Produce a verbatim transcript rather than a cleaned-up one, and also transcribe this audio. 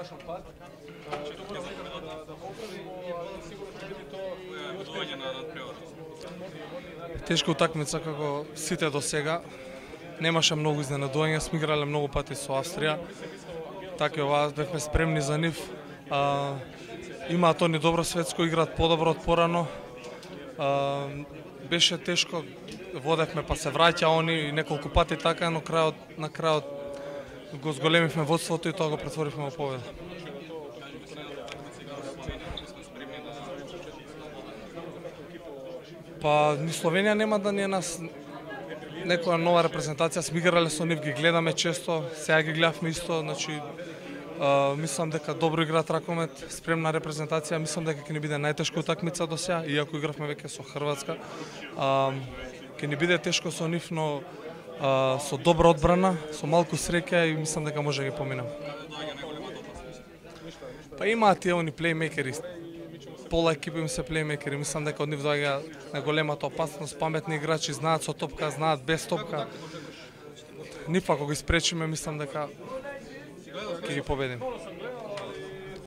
погрешен пат. Што мора да да поправимо, а сигурно ќе биде тоа будување на надпревар. Тешка утакмица како сите до сега. Немаше многу изненадување, сме играле многу пати со Австрија. Така и ова бевме спремни за нив. А, имаат они добро светско, играат подобро од порано. А, беше тешко, водевме па се враќа они неколку пати така, но крајот на крајот го зголемивме водството и тоа го претворивме во победа. Па ни Словенија нема да ни е нас некоја нова репрезентација, сме играле со нив, ги гледаме често, сега ги гледавме исто, значи а, мислам дека добро играат ракомет, спремна репрезентација, мислам дека ќе ни биде најтешка утакмица до сега, иако игравме веќе со Хрватска. А, ќе ни биде тешко со нив, но а, со добра одбрана, со малку среќа и мислам дека може да ги поминам. Па имаат тие они плеймейкери, пола екипа им се плеймейкери, мислам дека од нив доаѓа на големата опасност, паметни играчи, знаат со топка, знаат без топка. Нив ако ги спречиме, мислам дека ќе ги победиме.